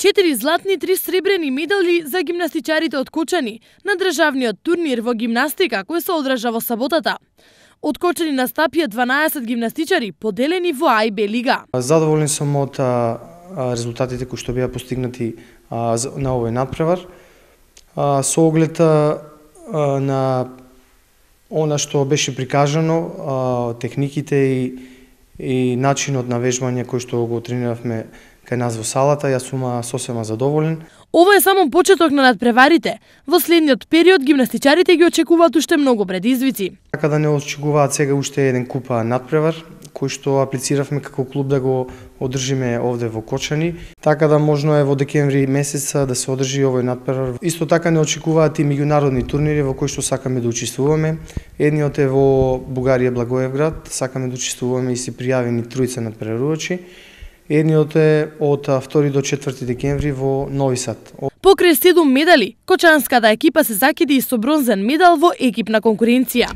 4 златни, 3 сребрени медали за гимнастичарите од Кочани на државниот турнир во гимнастика кој се одржа во саботата. Од Кочани настапија 12 гимнастичари поделени во А и Б лига. Задоволен сум од резултатите кои што беа постигнати на овој надпревар. Со оглед на она што беше прикажано, техниките и начинот на вежбање кој што го трениравме кај нас во салата, јас сум сосема задоволен. Ова е само почеток на надпреварите. Во следниот период гимнастичарите ги очекуваат уште многу предизвици. Така да не очекуваат сега уште еден куп надпревар кој што аплициравме како клуб да го одржиме овде во Кочани. Така да можно е во декември месец да се одржи овој надпревар. Исто така не очекуваат и меѓународни турнири во кои што сакаме да учествуваме. Едниот е во Бугарија, Благоевград, сакаме да учествуваме и си пријавени тројца надпреварувачи. Едниот е од 2 до 4 декември во Нови Сад. Покрај 7 медали, кочанската екипа се закиди и со бронзен медал во екипна конкуренција.